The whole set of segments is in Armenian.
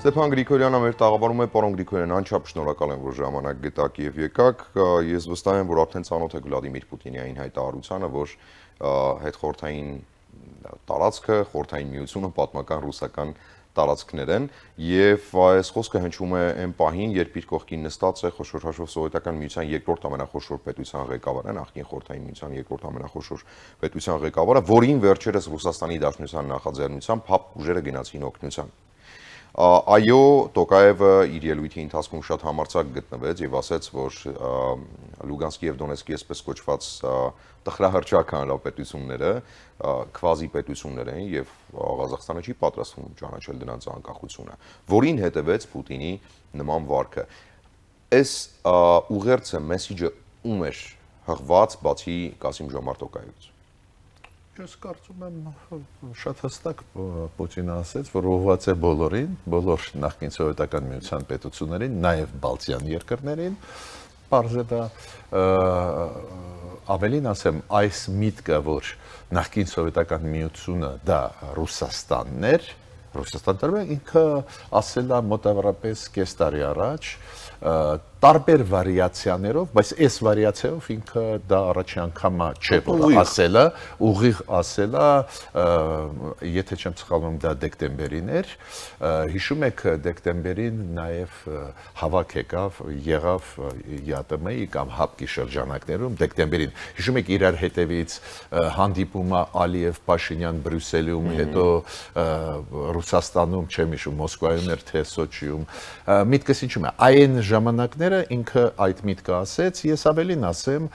Ստեփան Գրիգորյանը մեր տաղավարում է, պարոն Գրիգորյան, անչափ շնորհակալ եմ, որ ժամանակ գտաք եւ եկաք։ Ես վստահ եմ, որ արդեն ծանոթ եք Վլադիմիր Պուտինի այն հայտարարությանը, որ հետխորհրդային տարածքը, խորհրդային միությունը պատմական ռուսական տարածքներ են եւ այս խոսքը հնչում է այն պահին, երբ իր կողքին նստած է խոշոր հաշվով Սովետական միության երկրորդ ամենախոշոր պետության ղեկավարը, նախկին խորհրդային միության երկրորդ ամենախոշոր պետության ղեկավարը, որին վերջերս Ռուսաստանի Դաշնության նախաձեռնությամբ ՀԱՊ ուժերը գնացին օգնության։ Այո, Տոկաևը իր ելույթի ընթացքում շատ համարձակ գտնվեց եւ ասաց, որ Լուգանսկի եւ Դոնեցկի այսպես կոչված տխրահռչակ հանրապետությունները քվազի պետություններ են եւ Ղազախստանը չի պատրաստվում ճանաչել դրանց անկախությունը, որին հետևեց Պուտինի նման վարքը։ Այս ուղերձը մեսիջը ում էր հղված բացի Կասիմ Ժոմարտ Տոկաևից։ Ես կարծում եմ շատ հստակ Պուտինը ասաց, որ ուղղված է բոլորին, բոլոր նախկին սովետական միության պետություններին, նաև Բալտյան երկրներին, պարզ է դա ավելին ասեմ, այս միտքը, որ նախկին սովետական միությունը դա Ռուսաստանն էր, Ռուսաստանը ինքը ասել է մոտավորապես կես տարի առաջ, տարբեր վարիացիաներով, բայց այս վարիացիայով ինքը դա առաջի անգամը չէ, որ ասել է, ուղիղ ասել է, եթե չեմ սխալվում, դա դեկտեմբերին էր, հիշում եք դեկտեմբերին նաև հավաք եղավ ԵԱՏՄ-ի կամ ՀԱՊԿ-ի շրջանակներում դեկտեմբերին, հիշում եք իրար հետևից հանդիպումը Ալիև-Փաշինյան Բրյուսելում, հետո Ռուսաստանում, չեմ հիշում, Մոսկվայում էր, թե Սոչիում, միտքս ինչու՞մ է, այն ժամանակները ինքը այդ միտքը ասեց, ես ավելին ասեմ,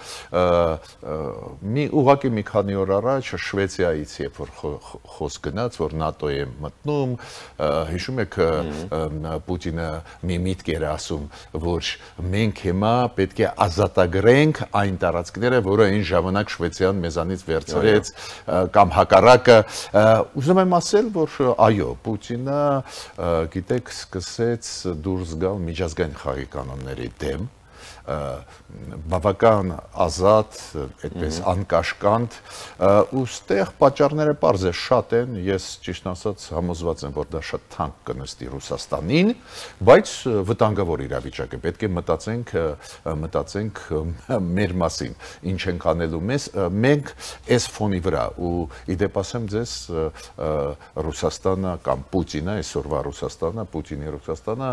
ուղղակի մի քանի օր առաջ Շվեցիայից երբ որ խոսք գնաց, որ ՆԱՏՕ է մտնում, հիշում եք Պուտինը մի միտք էր ասում, որ մենք հիմա պետք է ազատագրենք այն տարածքները, որը այն ժամանակ Շվեցիան մեզանից վերցրեց կամ հակառակը, ուզում եմ ասել, որ այո, Պուտինը, գիտեք, սկսեց դուրս գալ միջազգային խաղի կանոնների դեմ, բավական ազատ, այդպես անկաշկանդ, ու ստեղ պատճառները պարզ է, շատ են, ես ճիշտ ասած համոզված եմ, որ դա շատ թանկ կնստի Ռուսաստանին, բայց վտանգավոր իրավիճակ է, պետք է մտածենք մեր մասին, ինչ ենք անելու մենք այս ֆոնի վրա, ու իդեպ ասեմ ձեզ Ռուսաստանը կամ Պուտինը, այսօրվա Ռուսաստանը, Պուտինի Ռուսաստանը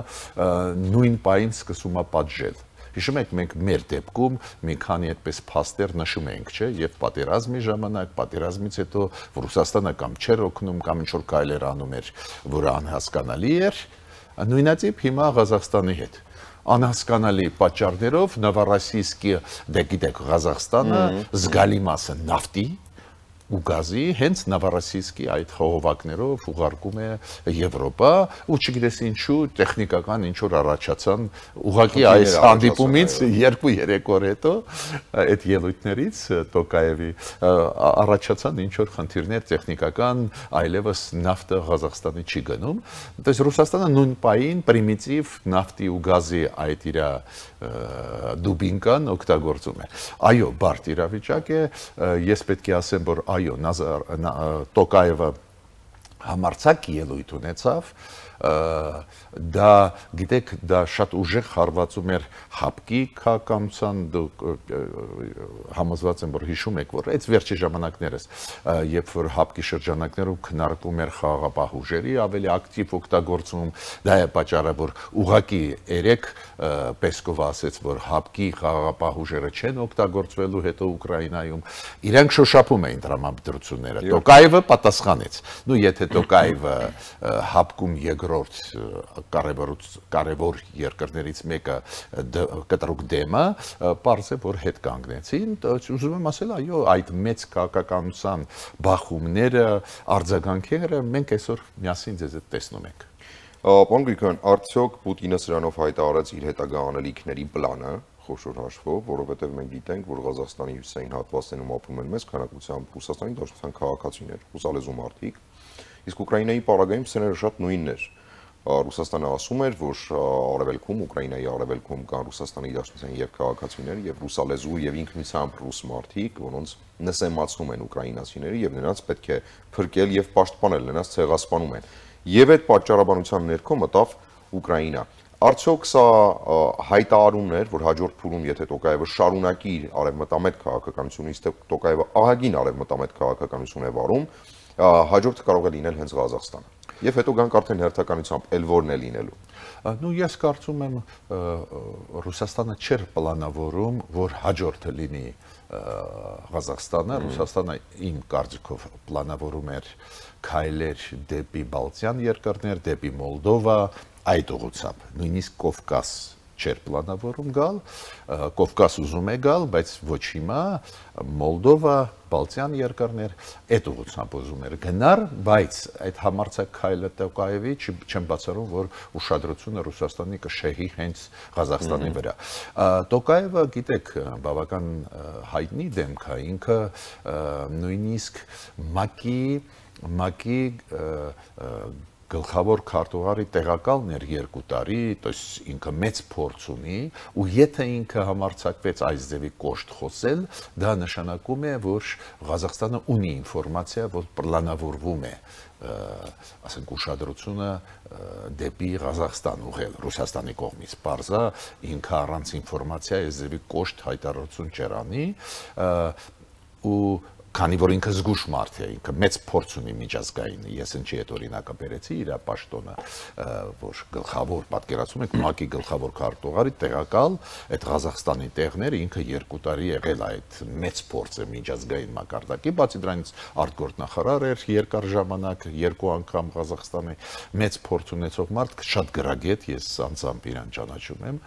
նույն պահին սկսում է պատժել։ Հիշում եք, մենք մեր դեպքում մի քանի այդպես փաստեր նշում ենք, չէ, եւ պատերազմի ժամանակ, պատերազմից հետո Ռուսաստանը կամ չէր օգնում, կամ ինչ-որ քայլեր անում էր, որը անհասկանալի էր, նույնացիպ հիմա Ղազախստանի հետ։ Անհասկանալի պատճառներով Նովորոսիյսկի, դե գիտեք, Ղազախստանը զգալի մասը նավթի ու գազի հենց Նովորոսիյսկի այդ խողովակներով ուղարկում է Եվրոպա ու չգիտես ինչու տեխնիկական ինչ-որ առաջացան ուղղակի այս հանդիպումից 2-3 օր հետո այդ ելույթներից Տոկաևի առաջացան ինչ-որ խնդիրներ տեխնիկական այլևս նավթը Ղազախստանի չի գնում դες Ռուսաստանը նույն պահին պրիմիտիվ նավթի ու գազի այդ իր դուբինկան օգտագործում է այո բարդ իրավիճակ է ես պետք է ասեմ որ այո, Տոկաևը համարձակ ելույթ ունեցավ, դա, գիտեք, դա շատ ուժեղ հարվածում էր ՀԱՊԿ-ի քաղաքականության, դուք համոզված եմ, որ հիշում եք, որ այդ վերջի ժամանակներս, երբ որ ՀԱՊԿ-ի շրջանակներում քննարկվում էր խաղաղապահ ուժերի ավելի ակտիվ օգտագործում, դա է պատճառը, որ ուղղակի երեք Պեսկովը ասեց, որ ՀԱՊԿ-ի խաղաղապահ ուժերը չեն օգտագործվելու հետո Ուկրաինայում, իրանք շոշափում էին տրամադրությունները, Տոկաևը պատասխանեց, նու եթե Տոկաևը ՀԱՊԿ-ում երկրորդ կարևոր երկրներից մեկը կտրուկ դեմը, պարզ է, որ հետ կանգնեցին, ուզում եմ ասել, այո, այդ մեծ քաղաքականության բախումները, արձագանքերը մենք այսօր միասին ձեզ հետ տեսնում ենք։ Պարոն Գրիգորյան, արդյոք Պուտինը սրանով հայտարարեց իր հետագա անելիքների պլանը, խոշոր հաշվով, որովհետև մենք գիտենք, որ Ղազախստանի հյուսիսային հատվածներում ապրում են մեծ քանակությամբ Ռուսաստանի Դաշնության քաղաքացիներ, ռուսալեզու մարդիկ, իսկ Ուկրաինայի պարագայում սցենարը շատ նույնն էր։ Ռուսաստանը ասում էր, որ արևելքում, Ուկրաինայի արևելքում կան Ռուսաստանի Դաշնության եւ քաղաքացիներ եւ ռուսալեզու եւ ինքնությամբ ռուս մարդիկ, որոնց նսեմացնում են ուկրաինացիները եւ նրանց պետք է փրկել եւ պաշտպանել, նրանց ցեղասպանում են։ եւ այդ պատճառաբանության ներքո մտավ Ուկրաինա։ Արդյոք սա հայտարարումն էր, որ հաջորդ փուլում, եթե Տոկաևը շարունակի իր արևմտամետ քաղաքականությունից, Տոկաևը ահագին արևմտամետ քաղաքականություն է վարում, հաջորդը կարող է լինել հենց Ղազախստանը։ Եվ հետո գանք արդեն հերթականությամբ էլ որն է լինելու։ Ну, ես կարծում եմ Ռուսաստանը չէր պլանավորում, որ հաջորդը լինի Ղազախստանը, Ռուսաստանը իմ կարծիքով պլանավորում էր քայլեր դեպի Բալթյան երկրներ, դեպի Մոլդովա, այդ ուղղությամբ, նույնիսկ Կովկաս չէր պլանավորում գալ, Կովկաս ուզում է գալ, բայց ոչ հիմա, Մոլդովա, Բալթյան երկրներ, այդ ուղղությամբ ուզում էր գնար, բայց այդ համարձակ քայլը Տոկաևի չեմ բացառում, որ ուշադրությունը Ռուսաստանի կշեհի հենց Ղազախստանի վրա։ Տոկաևը, գիտեք, բավական հայտնի դեմք է, ինքը նույնիսկ ՄԱԿ-ի գլխավոր քարտուղարի տեղակալն էր 2 տարի, то есть ինքը մեծ փորձ ունի, ու եթե ինքը համարձակվեց այս ձևի կոշտ խոսել, դա նշանակում է, որ Ղազախստանը ունի ինֆորմացիա, որ պլանավորվում է, ասենք ուշադրությունը դեպի Ղազախստան ուղղել Ռուսաստանի կողմից, պարզա ինքը առանց ինֆորմացիա այս ձևի կոշտ հայտարարություն չէր անի, ու քանի որ ինքը զգուշ մարդ է, ինքը մեծ փորձ ունի միջազգային, ես ինչի այդ օրինակը բերեցի իր պաշտոնը, որ գլխավոր պատկերացում եք ՄԱԿ-ի գլխավոր քարտուղարի տեղակալ այդ Ղազախստանի տեղները ինքը 2 տարի եղել այդ մեծ փորձը միջազգային մակարդակի, բացի դրանից արտգործնախարար էր երկար ժամանակ, 2 անգամ Ղազախստանի մեծ փորձ ունեցող մարդ, շատ գրագետ, ես անձամբ իրան ճանաչում եմ,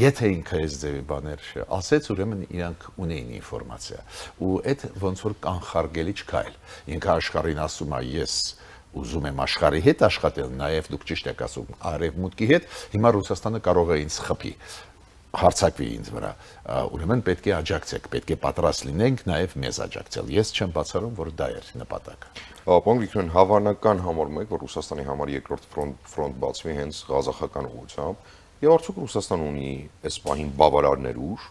եթե ինքը այս ձևի բաներ ասեց, ուրեմն իրանք ունեին ինֆորմացիա, ու այդ ոնց որ կանխարգելի չքայլ։ Ինքը աշխարհին ասում է, ես ուզում եմ աշխարհի հետ աշխատել, նաև դուք ճիշտ եք ասում, արևմուտքի հետ, հիմա Ռուսաստանը կարող է ինձ խփի, հարձակվի ինձ վրա, ուրեմն պետք է աջակցեք, պետք է պատրաստ լինենք նաև մեզ աջակցել։ Ես չեմ բացառում, որ դա էր նպատակը։ Պարոն Գրիգորյան, հավանական համարում եք, որ Ռուսաստանի համար երկրորդ ֆրոնտ բացվի հենց ղազախական ուղղությամբ, եւ արդյոք Ռուսաստանը ունի այս պահին բավարար ուժ,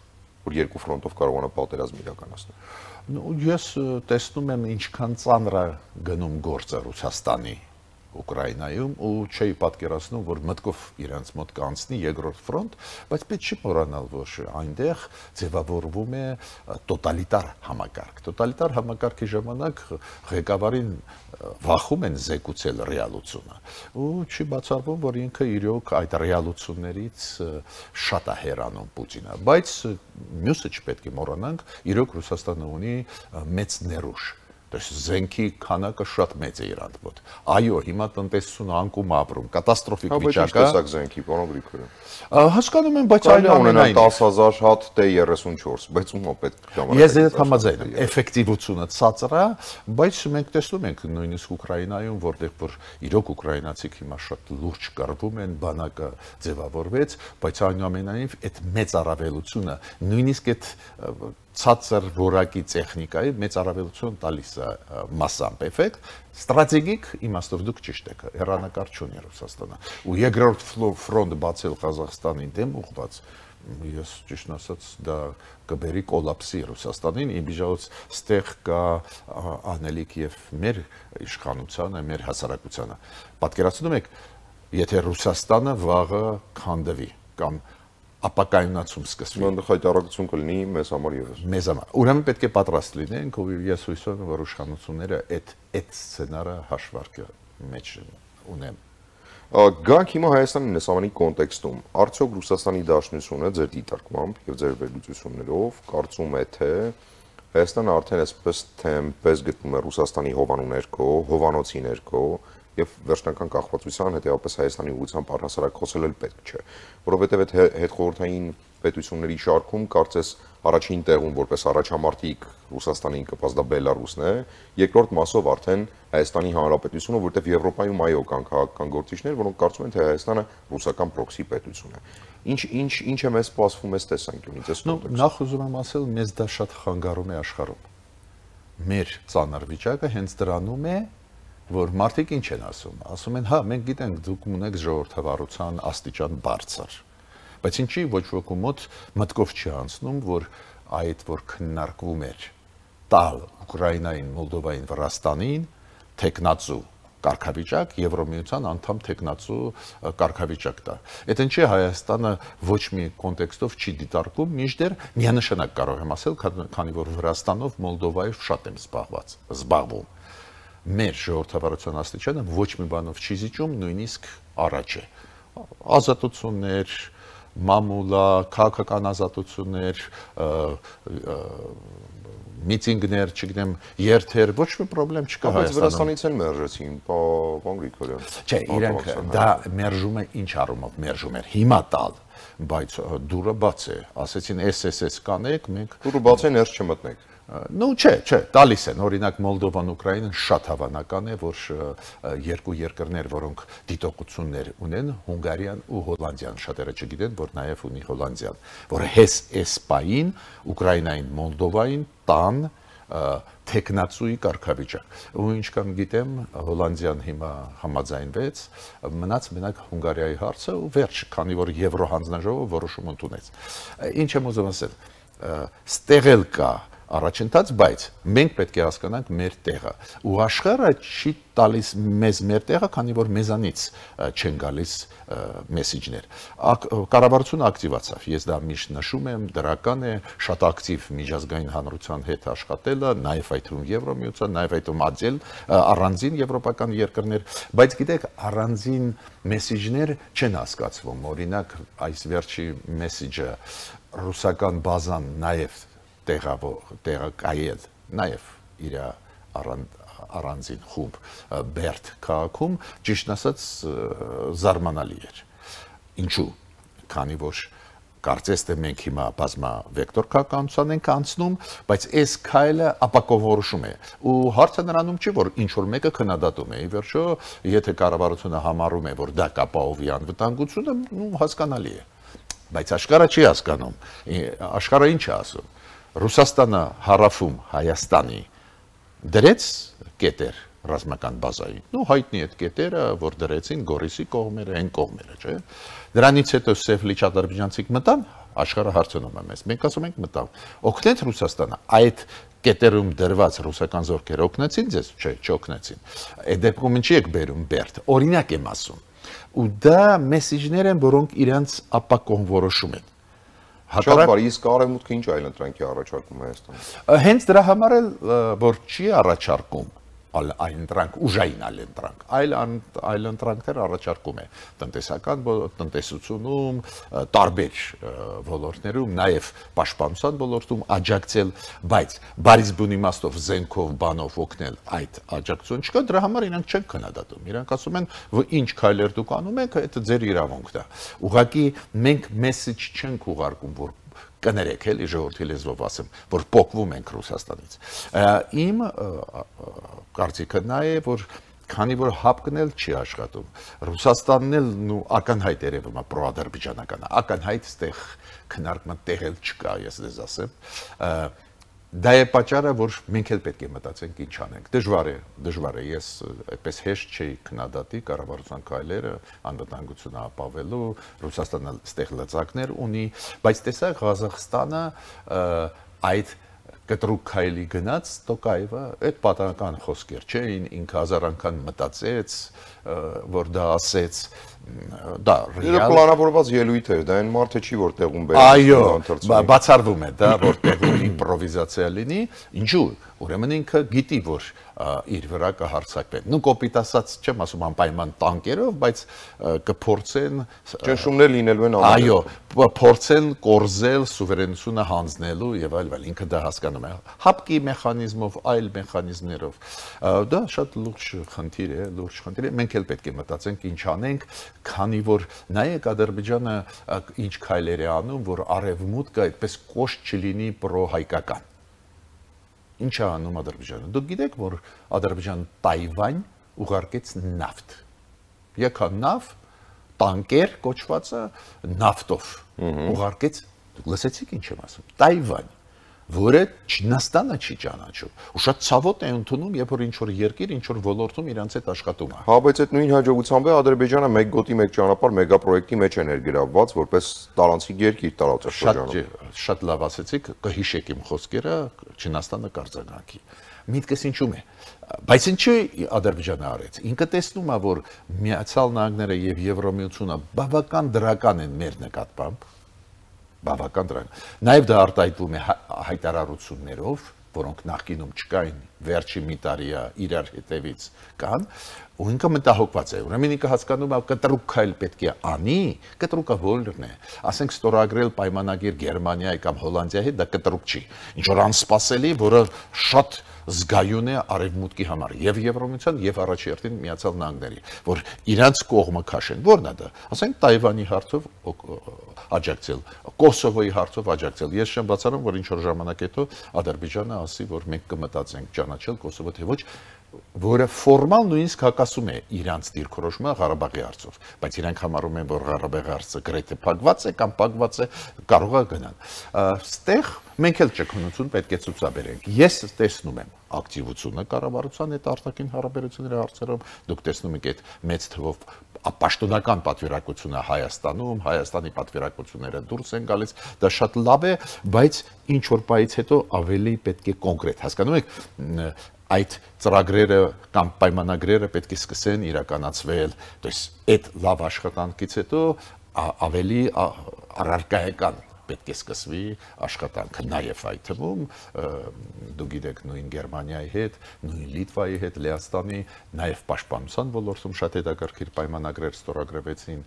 որ երկու ֆրոնտով կարողանա պատերազմ իրականացնել։ Ես տեսնում եմ ինչքան ծանր է գնում գործը Ռուսաստանի Ուկրաինայում ու չի պատկերացնում, որ մտքով իրանց մոտ կանցնի երկրորդ ֆրոնտ, բայց պետք չի մոռանալ, որ այնտեղ ձևավորվում է տոտալիտար համակարգ։ Տոտալիտար համակարգի ժամանակ ղեկավարին վախում են զեկուցել ռեալությունը։ Ու չի բացառվում, որ ինքը իրոք այդ ռեալություններից շատ է հեռանում Պուտինը, բայց մյուսը չպետք է մոռանանք, իրոք Ռուսաստանը ունի մեծ ներուժ։ Զենքի քանակը շատ մեծ է իրանց մոտ։ Այո, հիմա տնտեսությունը անկում ապրում, կատաստրոֆիկ վիճակ է։ Տեսակ զենքի, պարոն Գրիգորյան։ Հասկանում եմ, բայց այնուամենայնիվ 10,000 հատ T-34, բայց ում պետք ժամանակ։ Ես այդ համաձայն եմ, էֆեկտիվությունը ցածր է, բայց մենք տեսնում ենք նույնիսկ Ուկրաինայում, որտեղ որ իրոք ուկրաինացիք հիմա շատ լուրջ կռվում են, բանակը ձևավորվեց, բայց այնուամենայնիվ այդ մեծ առավելությունը, նույնիսկ այդ ցածր որակի տեխնիկայի մեծ առավելություն տալիս է մասամբ էֆեկտ, ստրատեգիկ իմաստով դուք ճիշտ եք, հեռանկար չունի Ռուսաստանը։ Ու երկրորդ ֆրոնտ բացել Ղազախստանի դեմ ուղղված, ես ճիշտ ասած դա կբերի կոլապսի Ռուսաստանին, իմիջիայլոց ստեղ կա անելիք եւ մեր իշխանությանը, մեր հասարակությանը։ Պատկերացնում եք, եթե Ռուսաստանը վաղը քանդվի կամ ապակայունացում սկսվի։ Ոնց հայտարարություն կլինի մեզ համար եւս։ Մեզ համար։ Ուրեմն պետք է պատրաստ լինենք, ու ես հույս ունեմ, որ իշխանությունները այդ սցենարը հաշվարկը մեջ ունեն։ Գանք հիմա Հայաստանի նեսավանի կոնտեքստում, արդյոք Ռուսաստանի Դաշնությունը ձեր դիտարկմամբ եւ ձեր վերլուծություններով կարծում է թե Հայաստանը արդեն այսպես թեմպես գտնում է Ռուսաստանի հովանու ներքո, հովանոցի ներքո եւ վերջնական կախվածության հետեւապես Հայաստանի ուղղությամբ առհասարակ խոսել էլ պետք չէ, որովհետեւ այդ հետխորհրդային պետությունների շարքում կարծես առաջին տեղում որպես առաջամարտիկ Ռուսաստանին կպած դա Բելարուսն է, երկրորդ մասով արդեն Հայաստանի Հանրապետությունը, որտեղ Եվրոպայում այո կան քաղաքական գործիչներ, որոնք կարծում են թե Հայաստանը ռուսական պրոքսի պետություն է։ Ինչ է մեզ սպասվում այս տեսանկյունից, այս կոնտեքստում։ Նախ ուզում եմ ասել, մեզ դա շատ խանգարում է աշխարհում։ Մեր ծանր վիճակը հենց դրանում է, որ մարդիկ ինչ են ասում են, հա, մենք գիտենք, դուք ունեք ժողովրդավարության աստիճան բարձր, բայց ինչի ոչ ոքի մոտ մտքով չի անցնում, որ այդ որ քննարկվում էր տալ Ուկրաինային, Մոլդովային, Վրաստանին, տեխնացու կարգավիճակ, Եվրոմիության անդամ տեխնացու կարգավիճակ դա։ Այդ ինչի Հայաստանը ոչ մի կոնտեքստով չի դիտարկում, մինչդեռ միանշանակ կարող եմ ասել, քանի որ Վրաստանով, Մոլդովայով շատ եմ զբաղվում։ Մեր ժողովրդավարության աստիճանը ոչ մի բանով չի զիջում, նույնիսկ առաջ է։ Ազատություններ, մամուլա, քաղաքական ազատություններ, միտինգներ, չգիտեմ, երթեր, ոչ մի խնդրեմ չկա Հայաստանում։ Բայց Վրաստանից են մերժեցին, պարոն Գրիգորյան։ Չէ, իրենք դա մերժում է ինչ առումով մերժում էր։ Հիմա տալ, բայց դուրը բաց է։ Ասեցին SSS կանեք, մենք դուրը բաց է, ներս չմտնեք։ Ну, չէ, տալիս են, օրինակ Մոլդովան, Ուկրաինան շատ հավանական է, որ երկու երկրներ, որոնք դիտողություններ ունեն, Հունգարիան ու Հոլանդիան, շատերը չգիտեն, որ նաև ունի Հոլանդիան, որ հես էսպային, Ուկրաինային, Մոլդովային տան տեխնացուի կարգավիճակ։ Ու ինչքան գիտեմ, Հոլանդիան հիմա համաձայնվեց, մնաց մենակ Հունգարիայի հարցը ու վերջ, քանի որ Եվրո հանձնաժողովը որոշում ընդունեց։ Ինչ եմ ուզում ասել, ստեղել կա առաջընթաց, բայց մենք պետք է հասկանանք մեր տեղը ու աշխարհը չի տալիս մեզ մեր տեղը, քանի որ մեզանից չեն գալիս մեսեջներ։ Կառավարությունը ակտիվացավ, ես դա միշտ նշում եմ, դրական է, շատ ակտիվ միջազգային հանրության հետ աշխատելը, նաև այդ թվում Եվրոմիության, նաև այդ թվում աջել առանձին եվրոպական երկրներ, բայց գիտեք, առանձին մեսեջներ չեն հասկացվում, օրինակ այս վերջի մեսեջը ռուսական բազան նաև տեղակայել, նաև իր առանձին խումբ Բերդ քաղաքում, ճիշտ ասած զարմանալի էր։ Ինչու՞, քանի որ կարծես թե մենք հիմա բազմավեկտոր քաղաքականության ենք անցնում, բայց այս քայլը ապակովորոշում է։ Ու հարցը նրանում չի, որ ինչ որ մեկը քննադատում է։ Ի վերջո, եթե կառավարությունը համարում է, որ դա կապահովի անվտանգությունը, հասկանալի է։ Բայց աշխարհը չի հասկանում։ Աշխարհը ինչ է ասում։ Ռուսաստանը հարավում Հայաստանի դրեց կետեր ռազմական բազային։ Ну հայտնի այդ կետերը, որ դրեցին Գորիսի կողմերը, այն կողմերը, չէ։ Դրանից հետո Սևլիչ ադրբեջանցիք մտան, աշխարհը հարցնում է մեզ։ Մենք ասում ենք մտան։ Օգնեց Ռուսաստանը այդ կետերում դրված ռուսական զորքերը օգնեցին ձեզ, չէ, չօգնեցին։ Այդ դեպքում ինչի եք բերում Բերդ։ Օրինակ եմ ասում։ Ու դա մեսեջներ են, որոնք իրանց ապակոնվորոշում են։ Շատ բարի, իսկ արևմուտքը ինչ այլընտրանքի առաջարկում Հայաստանը։ Հենց դրա համար էլ որ չի առաջարկում այլընտրանք, ուժային այլընտրանք, այլընտրանքներ առաջարկում է տնտեսական տնտեսությունում, տարբեր ոլորտներում, նաև պաշտպանության ոլորտում աջակցել, բայց բարիս բուն իմաստով զենքով բանով օգնել այդ աջակցություն չկա, դրա համար իրանք չեն քննադատում։ Իրանք ասում են, որ ինչ քայլեր դուք անում եք, դա ձեր իրավունքն է։ Ուղղակի մենք մեսեջ չենք ուղարկում, որ կներեք էլի ժողովրդի լեզվով ասեմ, որ փոխվում ենք Ռուսաստանից։ Իմ կարծիքը նա է, որ քանի որ հապկն էլ չի աշխատում, Ռուսաստանն էլ նու ակնհայտ երևում է պրոադրբեջանական, ակնհայտ ստեղ քննարկման տեղ էլ չկա, ես դες ասեմ։ Դա է պատճառը, որ մենք էլ պետք է մտածենք ինչ անենք։ Դժվար է, ես այդպես հեշտ չի քննադատի կառավարության քայլերը անվտանգությունը ապավելու, Ռուսաստանը ստեղ լծակներ ունի, բայց տեսակ Ղազախստանը այդ կտրուկ քայլի գնաց Տոկաևը, այդ պատահական խոսքեր չէին, ինքը հազար անգամ մտածեց, որ դա ասեց, դա ռեալ պլանավորված ելույթ էր, դա այն մարդը չի որ տեղում բերել։ Այո, բացառվում է դա, որ տեղում իմպրովիզացիա լինի, ինչու՞, ուրեմն ինքը գիտի, որ իր վրա կհարձակվեն։ Ну կոպիտ ասած չեմ ասում անպայման տանկերով, բայց կփորձեն ճնշումներ լինելու են ամեն։ Այո, փորձեն կորզել սուվերենությունը հանձնելու եւ այլ, ինքը դա հասկանում է։ Հապկի մեխանիզմով, այլ մեխանիզմներով։ Դա շատ լուրջ խնդիր է, մենք էլ պետք է մտածենք ինչ անենք, քանի որ նայեք Ադրբեջանը ինչ քայլեր է անում, որ արևմուտքը այդպես կոշտ չլինի պրոհայկական։ Ինչ է անում Ադրբեջանը։ Դուք գիտեք, որ Ադրբեջանը Թայվան ուղարկեց նավթ։ Եկա նավ, տանկեր կոչվածը նավթով ուղարկեց, դուք լսեցիք ինչ եմ ասում, Թայվան, որը Չինաստանը չի ճանաչում։ Ու շատ ցավոտ է ընդունում, երբ որ ինչ որ երկիր, ինչ որ ոլորտում իրանց հետ աշխատում է։ Հա, բայց այդ նույն հաջողությամբ է Ադրբեջանը մեկ գոտի մեկ ճանապարհ մեգապրոյեկտի մեջ է ներգրավված, որպես տարանցիկ երկիր տարածաշրջանում։ Շատ լավ ասեցիք, կհիշեք իմ խոսքերը, Չինաստանը կարձանանքի։ Միտքս ինչու՞մ է։ Բայց ինչու Ադրբեջանը արեց։ Ինքը տեսնում է, որ Միացյալ Նահանգները եւ Եվրոմիությունը բավական դրական են մեր նկատմամբ, բավական դրական։ Նաեւ դա արտահայտվում է հայտարարություններով, որոնք նախկինում չկային, վերջի մի տարիա իրար հետևից կան, ու ինքը մտահոգված է։ Ուրեմն ինքը հասկանում է, կտրուկ քայլ պետք է անի, կտրուկը ո՞րն է։ Ասենք ստորագրել պայմանագիր Գերմանիայի կամ Հոլանդիայի հետ, դա կտրուկ չի։ Ինչ որ անսպասելի, որը շատ զգայուն է արևմուտքի համար եւ Եվրոմիության եւ առաջերտին Միացյալ Նահանգների, որ իրանց կողմը քաշեն։ Որն է դա։ Ասենք Թայվանի հարցով աջակցել, Կոսովոյի հարցով աջակցել։ Ես չեմ բացառում, որ ինչ որ ժամանակ հետո Ադրբեջանը ասի, որ մենք կմտածենք ճանաչել Կոսովո, թե ոչ, որը ֆորմալ նույնիսկ հակասում է իրանց դիրքորոշումը Ղարաբաղի հարցով, բայց իրանք համարում են, որ Ղարաբաղի հարցը գրեթե փակված է կամ փակված է, կարող է գնալ։ Ստեղ մենք էլ ճկունություն պետք է ցուցաբերենք։ Ես տեսնում եմ ակտիվությունը կառավարության հետ արտաքին հարաբերությունների հարցերում, դուք տեսնում եք այդ մեծ թվով պաշտոնական պատվիրակությունը Հայաստանում, Հայաստանի պատվիրակությունները դուրս են գալիս, դա շատ լավ է, բայց ինչ որ բայից հետո ավելի պետք է կոնկրետ, հասկանում եք, այդ ծրագրերը կամ պայմանագրերը պետք է սկսեն իրականացվել, то есть այդ լավ աշխատանքից հետո ավելի առարկայական պետք է սկսվի աշխատանքը, նաև այդ թվում դու գիտեք նույն Գերմանիայի հետ, նույն Լիտվայի հետ, Լեհաստանի, նաև պաշտպանության ոլորտում շատ հետաքրքիր պայմանագրեր ստորագրվեցին,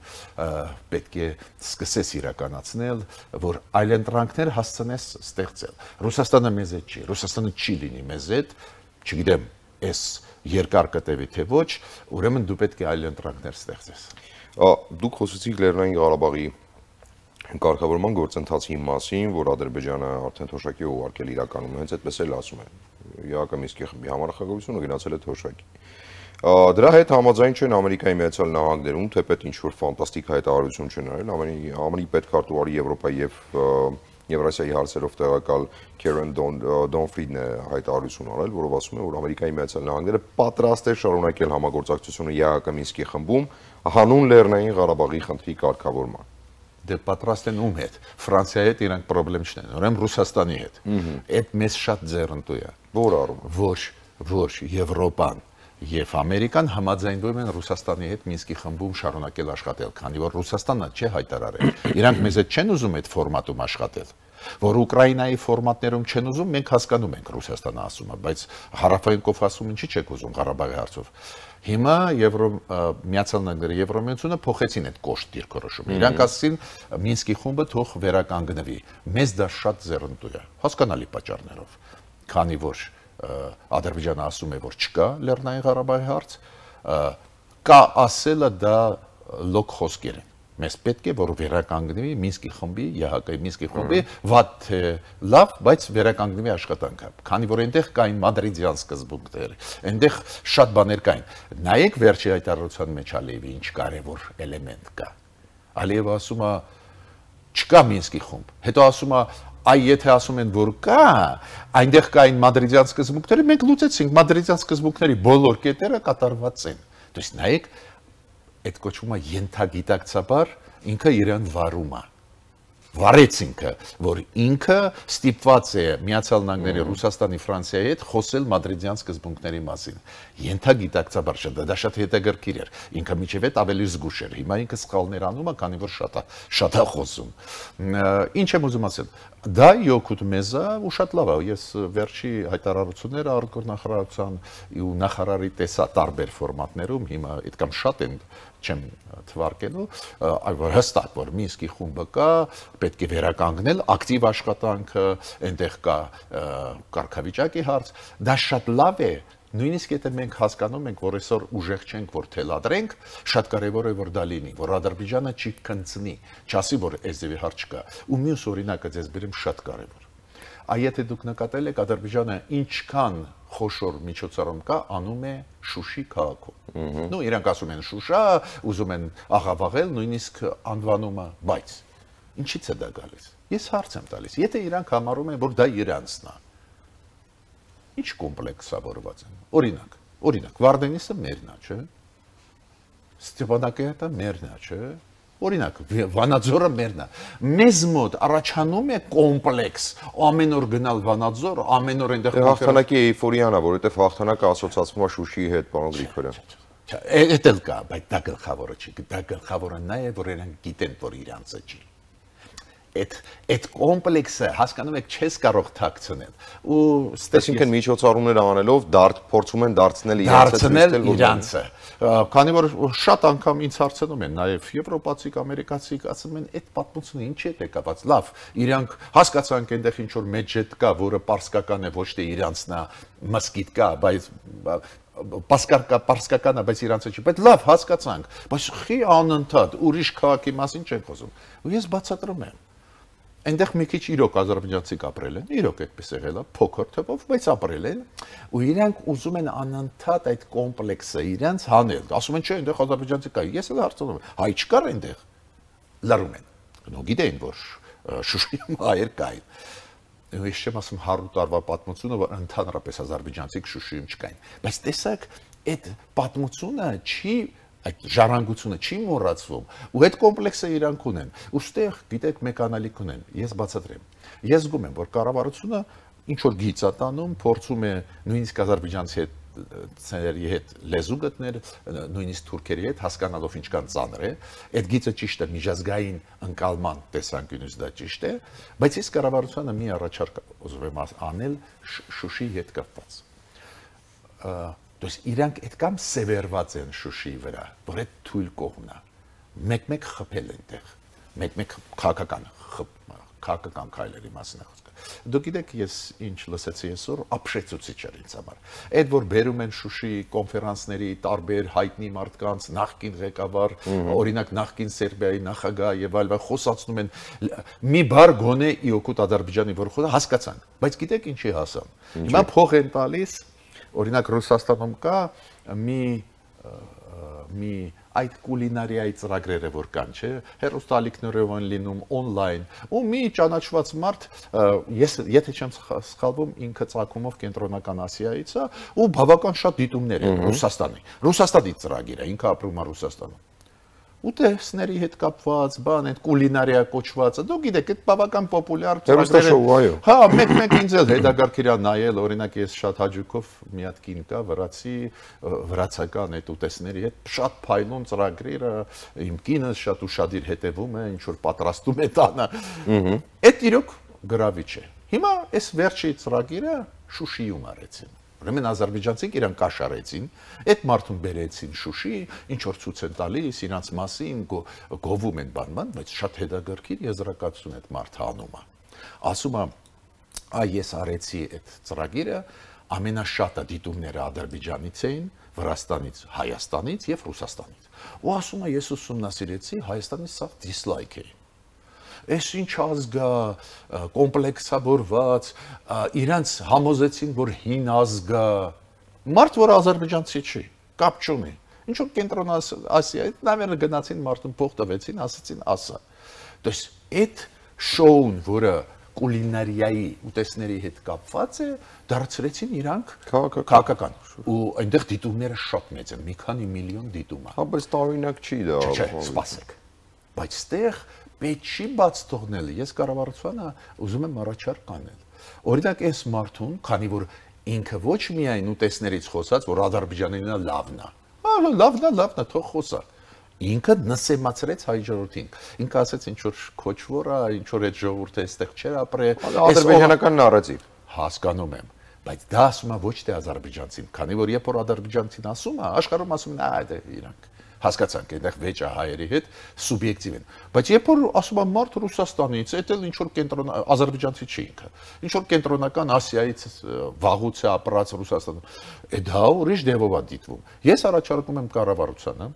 պետք է սկսես իրականացնել, որ այլընտրանքներ հասցնես ստեղծել։ Ռուսաստանը մեզ հետ չի, Ռուսաստանը չի լինի մեզ հետ, չգիտեմ, այս երկար կտևի թե ոչ, ուրեմն դու պետք է այլընտրանքներ ստեղծես։ Դուք խոսեցիք Լեռնային Ղարաբաղի կարգավորման գործընթացի մասին, որ Ադրբեջանը արդեն թոշակի է ուղարկել իրականում, հենց այդպես էլ ասում են։ ԵԱԿ Մինսկի խմբի համառախագահությունը գնացել է թոշակի։ Դրա հետ համաձայն չեն Ամերիկայի Միացյալ Նահանգներում, թեպետ ինչ-որ ֆանտաստիկ հայտարարություն չեն արել, ԱՄՆ-ի պետքարտուղարի Եվրոպայի եւ Եվրասիայի հարցերով տեղակալ Քերեն Դոնֆրիդն է հայտարարություն արել, որով ասում է, որ Ամերիկայի Միացյալ Նահանգները պատրաստ է շարունակել համագործակցությունը ԵԱԿ Մինսկի խմբում հանուն Լեռնային Ղարաբաղի խնդրի կարգավորման։ Դե պատրաստ են ում հետ, Ֆրանսիայի հետ իրանք խնդրեմ չունեն, ուրեմն Ռուսաստանի հետ։ Այդ մեզ շատ ձեռնտու է։ Որ առումով։ Ոչ Եվրոպան եւ Ամերիկան համաձայնվում են Ռուսաստանի հետ Մինսկի խմբում շարունակել աշխատել, քանի որ Ռուսաստանը չի հայտարարել։ Իրանք մեզ հետ չեն ուզում այդ ֆորմատում աշխատել։ Որ Ուկրաինայի ֆորմատներում չեն ուզում, մենք հասկանում ենք Ռուսաստանը ասում է, բայց Հարավային Կովկասում ինչի՞ չեք ուզում Ղարաբաղի հարցով։ Հիմա Միացյալ Նահանգները Եվրոմիությունը փոխեցին այդ կոշտ դիրքորոշումը։ Իրանք ասին Մինսկի խումբը թող վերականգնվի։ Մեզ դա շատ ձեռնտու է, հասկանալի պատճառներով, քանի որ Ադրբեջանը ասում է, որ չկա Լեռնային Ղարաբաղի հարց, կա ասելը դա լոկ խոսքեր են։ Մեզ պետք է որ վերականգնվի Մինսկի խմբի, ԵՀԿ-ի Մինսկի խմբի վատ լավ, բայց վերականգնվի աշխատանքը, քանի որ այնտեղ կային մադրիդյան սկզբունքներ, այնտեղ շատ բաներ կային։ Նայեք վերջի հայտարարության մեջ Ալիևի ինչ կարևոր էլեմենտ կա։ Ալիևը ասում է չկա Մինսկի խումբ, հետո ասում է այ եթե ասում են որ կա, այնտեղ կային մադրիդյան սկզբունքները, մենք լուծեցինք մադրիդյան սկզբունքների բոլոր կետերը կատարված են։ То есть նայեք այդ կոչվում է ենթագիտակցաբար ինքը իրան վարում է։ Վարեց ինքը, որ ինքը ստիպված է Միացյալ Նահանգների, Ռուսաստանի, Ֆրանսիայի հետ խոսել մադրիդյան սկզբունքների մասին։ Ենթագիտակցաբար դա շատ հետաքրքիր էր։ Ինքը միջև այդ ավելի զգուշ էր։ Հիմա ինքը սխալներ անում է, քանի որ շատ է խոսում։ Ինչ եմ ուզում ասել։ Դա յոքուտ մեզ է ու շատ լավ է։ Ես վերջի հայտարարությունները արտգործնախարարության ու նախարարի տեսա տարբեր ֆորմատներում, հիմա այդքան շատ են չեմ թվարկելու, այլ հստակ որ Մինսկի խումբը կա, պետք է վերականգնել ակտիվ աշխատանքը, այնտեղ կա կարգավիճակի հարց, դա շատ լավ է, նույնիսկ եթե մենք հասկանում ենք, որ այսօր ուժեղ չենք, որ թելադրենք, շատ կարևոր է որ դա լինի, որ Ադրբեջանը չի քնցնի, չասի որ այսևի հարց չկա, ու մյուս օրինակը ձեզ բերեմ շատ կարևոր։ Այ եթե դուք նկատել եք Ադրբեջանը ինչքան խոշոր միջոցառում կա, անում է Շուշի քաղաքում։ Նու իրանք ասում են Շուշա, ուզում են աղավաղել, նույնիսկ անվանումը, բայց ինչի՞ց է դա գալիս։ Ես հարց եմ տալիս, եթե իրանք համարում են, որ դա իրանցն է, ինչ կոմպլեքսավորված են։ Օրինակ, Վարդենիսը մերն է, չէ՞։ Ստեփանակերտը մերն է, չէ՞։ Օրինակ, Վանաձորը մերն է։ Մեզ մոտ առաջանում է կոմպլեքս, ամեն օր գնալ Վանաձոր, ամեն օր այնտեղ հաղթանակի էйֆորիան է, որովհետև հաղթանակը ասոցացվում է Շուշիի հետ, պարոն Գրիգորյան։ Էդ էլ կա, բայց դա գլխավորը չի, դա գլխավորը նա է, որ իրենք գիտեն, որ իրանցը չի։ Այդ կոմպլեքսը հասկանում եք չես կարող թաքցնել ու այսինքն միջոցառումներ անելով փորձում են դարձնել իրանցը քանի որ շատ անգամ ինձ հարցնում են նաև եվրոպացի ամերիկացի ասում են այդ պատմությունը ինչի է կապված լավ իրանք հասկացանք այնտեղ ինչ որ մեջետ կա որը պարսկական է ոչ թե իրանցն է մսկիթ կա բայց պարսկական է բայց իրանցը չի բայց լավ հասկացանք բայց խի անընդհատ ուրիշ քաղաքի մասին չեն խոսում ու ես բացատրում եմ այնտեղ մի քիչ իրոք ադրբեջանցիք ապրել են, իրոք այդպես եղել է, փոքր թվով, բայց ապրել են, ու իրանք ուզում են անընդհատ այդ կոմպլեքսը իրանց հանել։ Ասում են, չէ, այնտեղ ադրբեջանցի կա, ես էլ հարցնում եմ, հայ չկար այնտեղ։ Լռում են։ Նո գիտեն, որ Շուշիում հայեր կային։ Ես չեմ ասում 100 տարվա պատմությունը, որ ընդհանրապես ադրբեջանցիք Շուշիում չկային։ Բայց տեսակ, այդ պատմությունը չի այդ ժառանգությունը չի մոռացվում ու այդ կոմպլեքսը իրանք ունեն ուստեղ գիտեք մեկ անալիք ունեն ես բացատրեմ ես զգում եմ որ կառավարությունը ինչ որ գիծ է տանում փորձում է նույնիսկ ադրբեջանցի հետ լեզու գտնել նույնիսկ թուրքերի հետ հասկանալով ինչքան ծանր է այդ գիծը ճիշտ է միջազգային ընկալման տեսանկյունից դա ճիշտ է բայց ես կառավարությանը մի առաջարկ ուզում եմ անել Շուշիի հետ կապված То есть իրանք այդքան սևերված են Շուշիի վրա, որ այդ թույլ կողմն է։ Մեկ-մեկ խփել այնտեղ, մեկ-մեկ քաղաքական քայլերի մասին է խոսքը։ Դուք գիտեք, ես ինչ լսեցի այսօր, ապշեցուցիչ էր ինձ համար։ Այդ որ բերում են Շուշիի կոնֆերանսների տարբեր հայտնի մարդկանց, նախկին ղեկավար, օրինակ նախկին Սերբիայի նախագահ եւ այլն խոսացնում են մի բար գոնե իօկուտ Ադրբեջանի որ խոսա հասկացանք, բայց գիտեք ինչի հասան։ Հիմա փող են տալիս Օրինակ Ռուսաստանում կա մի այդ կուլինարիայի ծրագրերը որ կան, չէ, հեռուստալիքներով են լինում on-line, ու մի ճանաչված մարդ, ես եթե չեմ սխալվում, ինքը ցակումով կենտրոնական Ասիայից է, ու բավական շատ դիտումներ են Ռուսաստանի ծրագիր է, ինքը ապրում է Ռուսաստանում։ Ուտեստների հետ կապված, բան այդ կուլինարիա կոչվածը, դու գիտեք, այդ բավական պոպուլյար ծրագրեր են։ Հա, մեկ ինձ էլ հետագարք իրա նայել, օրինակ ես շատ հաճույքով մի հատ կին կա, վրացական այդ ուտեստների հետ շատ փայլուն ծրագրերը, իմ կինը շատ ուշադիր հետևում է, ինչ որ պատրաստում է տանը։ Այդ իրոք գրավիչ է։ Հիմա այս վերջի ծրագիրը Շուշիում արեցին։ Ուրեմն ադրբեջանցիք իրան կաշառեցին, այդ մարդուն բերեցին Շուշի, ինչ որ ցույց են տալիս իրանց մասին, գովում են բանման, բայց շատ հետաքրքիր եզրակացություն այդ մարդը անում է։ Ասում է, ես արեցի այդ ծրագիրը, ամենաշատը դիտումները Ադրբեջանից էին, Վրաստանից, Հայաստանից եւ Ռուսաստանից։ Ու ասում է, ես ուսումնասիրեցի, Հայաստանից սա դիսլայք է։ Այս ինչ ազգա կոմպլեքսավորված իրանց համոզեցին որ հին ազգա մարդ որ ադրբեջանցի չի կապ չունի ինչ որ կենտրոն Ասիայից նավերը գնացին մարդուն փող տվեցին ասացին ասա то есть այդ շոուն որը կուլինարիայի ուտեստների հետ կապված է դարձրեցին իրանք քաղաքական ու այնտեղ դիտումները շատ մեծ են մի քանի միլիոն դիտում է հա բայց տարօրինակ չի դա չէ սպասեք բայց այդտեղ Պետք չի բաց թողնել, ես կառավարությանը ուզում եմ առաջարկ անել։ Օրինակ այս մարդուն, քանի որ ինքը ոչ միայն ուտեստներից խոսած, որ Ադրբեջանինը լավն է։ Լավն է, թող խոսա։ Ինքը նսեմացրեց հայ ժողովրդին։ Ինքը ասեց ինչ որ քոչվոր է, ինչ որ այդ ժողովուրդը այստեղ չէր ապրել։ Ադրբեջանական նարատիվ։ Հասկանում եմ, բայց դա ասում է ոչ թե ադրբեջանցին, քանի որ երբ որ ադրբեջանցին ասում է, աշխարհում ասում են, դա իրանք հասկացանք, այնտեղ վեճը հայերի հետ սուբյեկտիվ են։ Բայց երբ որ ասում եմ մարդ Ռուսաստանից, դա էլ ինչ որ կենտրոն ադրբեջանցի չի ինքը։ Ինչ որ կենտրոնական Ասիայից վաղուց է ապրած Ռուսաստանում։ Դա ուրիշ դեպով է դիտվում։ Ես առաջարկում եմ կառավարությանը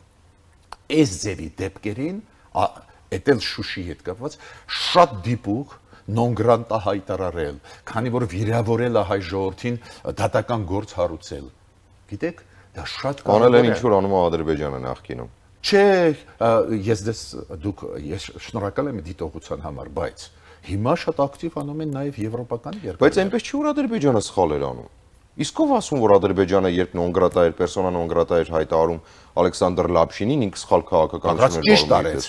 այս ձևի դեպքերին, դա էլ Շուշիի հետ կապված, շատ դիպուկ non granta հայտարարել, քանի որ վիրավորել է հայ ժողովրդին դատական գործ հարուցել։ Գիտեք Դա շատ կարևոր է։ Անել են ինչ որ անում Ադրբեջանը նախկինում։ Չէ, ես շնորհակալ եմ դիտողության համար, բայց հիմա շատ ակտիվ անում են նաև եվրոպական երկրները։ Բայց այնպես չի որ Ադրբեջանը սխալ էր անում։ Իսկ ով ասում, որ Ադրբեջանը երբ նոնգրատա էր, պերսոնա նոնգրատա էր հայտարարում Ալեքսանդր Լապշինին, ինքը սխալ քաղաքականություն էր ճիշտ արեց։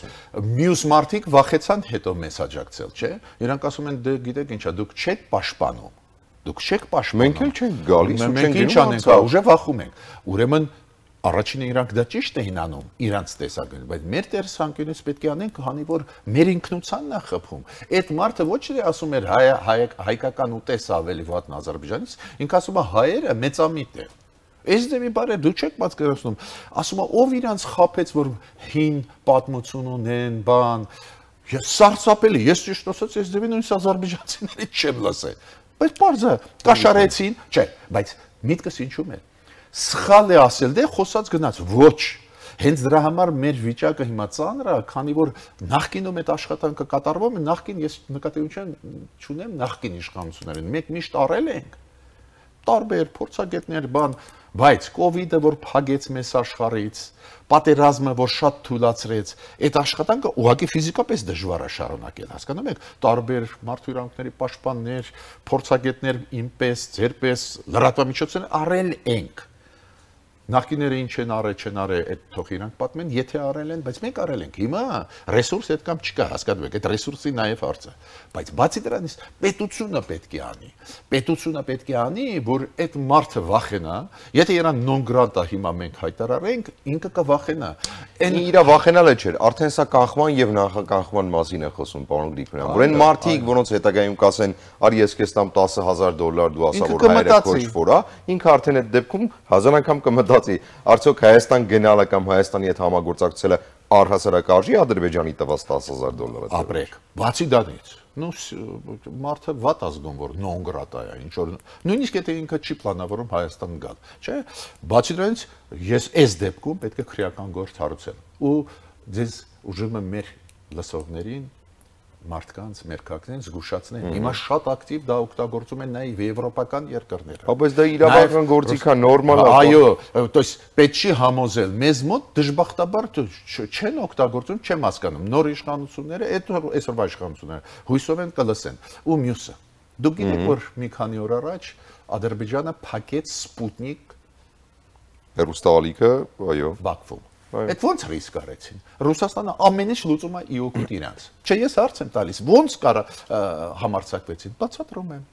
Մյուս մարդիկ վախեցան հետո մեզ աջակցել, չէ՞։ Իրանք ասում են դե գիտեք ինչա, դուք չեք պաշտպանում։ Դուք չեք պաշտպանում։ Մենք էլ չենք գալիս ու չենք ինչ անենք, ուժը վախում ենք։ Ուրեմն առաջինը իրանք դա ճիշտ էին անում իրանց տեսակետից, բայց մեր տեսանկյունից պետք է անենք, քանի որ մեր ինքնությանն է խփում։ Այդ մարդը ոչ թե ասում էր հայկական ուտես ավելի վատն Ադրբեջանից, ինքը ասում է հայերը մեծամիտ են։ Այս դեպի բարը դու չեք պատկերացնում, ասում է ով իրանց խափեց, որ հին պատմություն ունեն, բան։ Սարսափելի, ես ճիշտ ասած, այս դեպի նույնիսկ ադրբեջանցիներից չեմ լսել։ Բայց բարձր կաշարեցին, չէ, բայց միտքս ինչու՞մ է։ Սխալ է ասել, դե խոսած գնաց, ոչ։ Հենց դրա համար մեր վիճակը հիմա ծանր է, քանի որ նախկինում այդ աշխատանքը կատարվում է, նախկին ես նկատի չունեմ նախկին իշխանություններին, մենք միշտ արել ենք տարբեր փորձագետներ, բան, բայց կովիդը, որ փագեց մեզ աշխարհից, պատերազմը, որ շատ թույլատրեց, այդ աշխատանքը ուղղակի ֆիզիկապես դժվար է շարունակել, հասկանում եք, տարբեր մարդու իրավունքների պաշտպաններ, փորձագետներ, ինպես, ձերպես, լրատվամիջոցներ արել ենք։ Նախկիները ինչ են արել, այդ թող իրանք պատմեն, եթե արել են, բայց մենք արել ենք։ Հիմա ռեսուրս այդ կամ չկա, հասկանում եք, այդ ռեսուրսի նաև հարց է։ Բայց բացի դրանից պետությունը պետք է անի։ Պետությունը պետք է անի, որ այդ մարդը վախենա, եթե իրան նոնգրատա հիմա մենք հայտարարենք, ինքը կվախենա։ Այն իր վախենալը չէր, արդեն սա կանխման եւ նախականխման մասին է խոսում, պարոն Գրիգորյան։ Որ այն մարդիկ, որոնց հետագայում կասեն, արի ես քեզ տամ $10,000, դու ասա որ հայերը քոչվոր է, ինքը արդեն այդ դեպքում հազար անգամ կմտածի, արդյոք Հայաստան գնալը կամ Հայաստանի հետ համագործակցելը առհասարակ արժի Ադրբեջանի տված $10,000-ը։ Ապրեք, բացի դրանից, մարդը վատ ազգում որ նոնգրատա է, ինչ որ նույնիսկ եթե ինքը չի պլանավորում Հայաստան գալ, չէ՞։ Բացի դրանից ես այս դեպքում պետք է քրեական գործ հարուցեմ ու ձեզ ուժում եմ մեր լսողներին մարդկանց մերկակներին զգուշացնեն։ Հիմա շատ ակտիվ դա օգտագործում են նաև եվրոպական երկրները։ Բայց դա իրավական գործիք է, նորմալ է։ Այո, то есть պետք չի համոզել։ Մեզ մոտ դժբախտաբար չեն օգտագործում, չեմ հասկանում։ Նոր իշխանությունները, այսօրվա իշխանությունները հույսով են կլսեն։ Ու մյուսը։ Դուք գիտեք, որ մի քանի օր առաջ Ադրբեջանը փակեց Սպուտնիկ հեռուստաալիքը, այո, Բաքվում։ Այդ ոնց ռիսկ արեցին։ Ռուսաստանը ամեն ինչ լուծում է իօգուտ իրանց։ Չէ, ես հարց եմ տալիս, ոնց կարա համարձակվեցին։ Բացատրում եմ։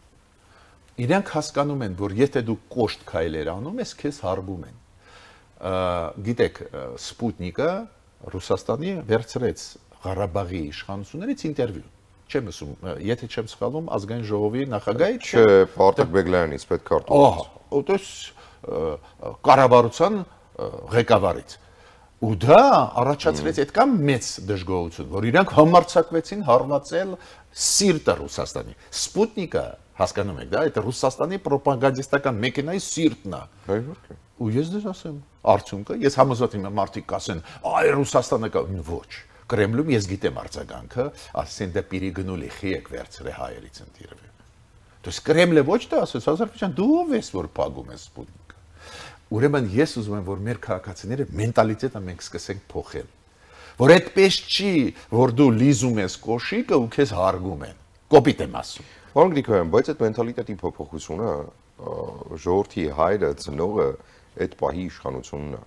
Իրանք հասկանում են, որ եթե դու կոշտ քայլեր անում ես, քեզ հարգում են։ Գիտեք, Սպուտնիկը Ռուսաստանի վերցրեց Ղարաբաղի իշխանություններից ինտերվյու։ Չեմ ասում, եթե չեմ սխալվում, ազգային ժողովի նախագահի չէ, Պարտակ Բեգլայանից պետք է արտահայտել։ То есть կառավարության ղեկավարից։ Ու դա առաջացրեց այդքան մեծ դժգոհություն, որ իրանք համարձակվեցին հարվածել սիրտը Ռուսաստանի։ Սպուտնիկը, հասկանում եք, դա այդ Ռուսաստանի ռոպագանդիստական մեքենայի սիրտն է։ Ու ես դες ասեմ, արդյունքը, ես համոզված եմ մարդիկ կասեն, այ Ռուսաստանը կա, ոչ։ Կրեմլում ես գիտեմ արձագանքը, ասեն դա պիրիգնուլի խիեք վերցրե հայերից ընտիրվի։ То есть Կրեմլը ոչ թե ասես, Ադրբեջան դու ով ես որ փագում ես Սպուտնիկը։ Ուրեմն ես ուզում եմ, որ մեր քաղաքացիները մենտալիտետը մենք սկսենք փոխել։ Որ այդպես չի, որ դու լիզում ես կոշիկը ու քեզ հարգում են։ Կոպիտ եմ ասում։ Պարոն Գրիգորյան, բայց այդ մենտալիտետի փոփոխությունը ժողովրդի հայրը, ծնողը այդ պահի իշխանությունն է։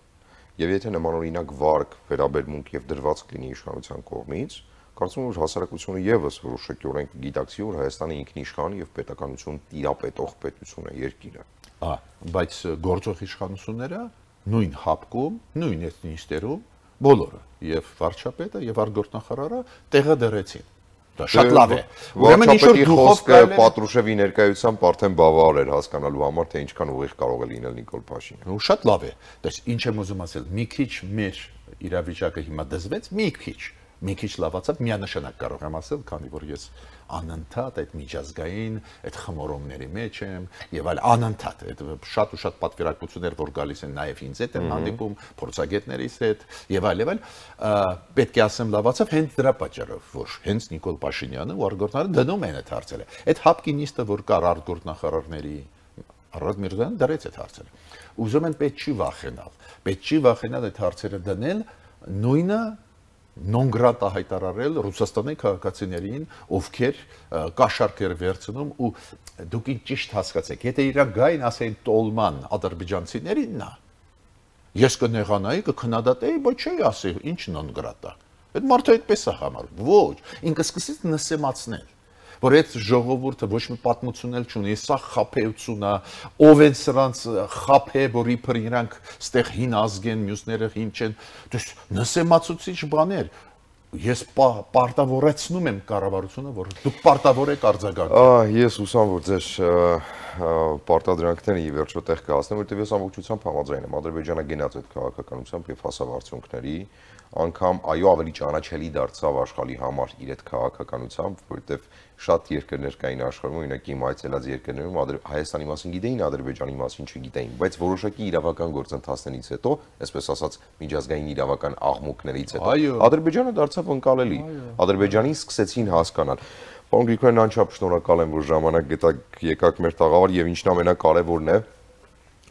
Եվ եթե նմանօրինակ վարկ, վերաբերմունք եւ դրվածք լինի իշխանության կողմից, կարծում եմ, որ հասարակությունը եւս որոշակիորեն գիտակցի, որ Հայաստանը ինքնիշխան եւ պետականություն տիրապետող պետություն է, երկիր է։ Բայց գործող իշխանությունները նույն հապկում, նույն էթնիստերում բոլորը եւ վարչապետը եւ արտգործնախարարը տեղը դրեցին։ Դա շատ լավ է։ Ուրեմն ինչ որ խոսքը Պատրուշևի ներկայությամբ արդեն բավարար էր հասկանալու համար, թե ինչքան ուղիղ կարող է լինել Նիկոլ Փաշինյանը։ Ու շատ լավ է։ Դες ինչ եմ ուզում ասել, մի քիչ մեր իրավիճակը հիմա դզվեց, մի քիչ լավացավ, միանշանակ կարող եմ ասել, քանի որ ես անընդհատ այդ միջազգային այդ խմորումների մեջ եմ եւ այլ անընդհատ այդ շատ ու շատ պատվիրակություններ որ գալիս են նաեւ ինձ հետ են հանդիպում փորձագետներից հետ եւ այլ պետք է ասեմ լավացավ հենց դրա պատճառով որ հենց Նիկոլ Փաշինյանը ու արտգործնախարարը դնում են այդ հարցերը այդ հապկինիստը որ կար արտգործնախարարների Արադ Միրզոյան դրեց այդ հարցերը ուզում են պետք չի վախենալ այդ հարցերը դնել նույնը non grata հայտարարել Ռուսաստանի քաղաքացիներին, ովքեր կաշառքեր վերցնում ու դուք ճիշտ հասկացեք, եթե իրանք գային ասեն տոլման ադրբեջանցիներին նա ես կնեղանայի, կքննադատեի, բայց չի ասի, ինչ non grata։ Այդ մարդը այդպես է համարում։ Ոչ, ինքը սկսեց նսեմացնել, որ այդ ժողովուրդը ոչ մի պատմություն էլ չունի, սա խափեություն է, ով են սրանց խափե, որ իբր իրանք ստեղ հին ազգ են, մյուսները հին չեն, դες նսեմացուցիչ բաներ։ Ես պարտավորեցնում եմ կառավարությունը, որ դուք պարտավոր եք արձագանքել։ Ես ուսամ, որ ձեր պարտադրանքները ի վերջո տեղ կհասնեն, որտեղ ես ամբողջությամբ համաձայն եմ։ Ադրբեջանը գնաց այդ քաղաքականությամբ եւ հասավ արդյունքների, անգամ այո ավելի ճանաչելի դարձավ աշխարհի համար իր այդ քաղաքականությամբ, որովհետեւ շատ երկրներ կային աշխարհում, օրինակ իմ այցելած երկրներում Հայաստանի մասին գիտեին, Ադրբեջանի մասին չգիտեին, բայց որոշակի իրավական գործընթացներից հետո, այսպես ասած, միջազգային իրավական աղմուկներից հետո Ադրբեջանը դարձավ ընկալելի։ Ադրբեջանին սկսեցին հասկանալ։ Պարոն Գրիգորյան, անչափ շնորհակալ եմ, որ ժամանակ գտաք, եկաք մեր տաղավար եւ ինչն ամենակարևորն է,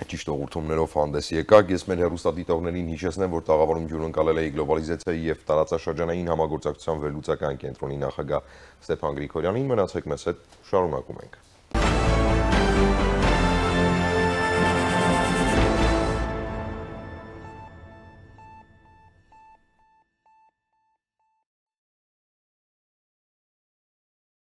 ճիշտ ուղղություններով հանդես եկաք։ Ես մեր հեռուստադիտողներին հիշեցնեմ, որ տաղավարում հյուրընկալել էի գլոբալիզացիայի եւ տարածաշրջանային համագործակցության վերլուծական կենտրոնի նախագահ Ստեփան Գրիգորյանին։ Մնացեք մեզ հետ, շարունակում ենք։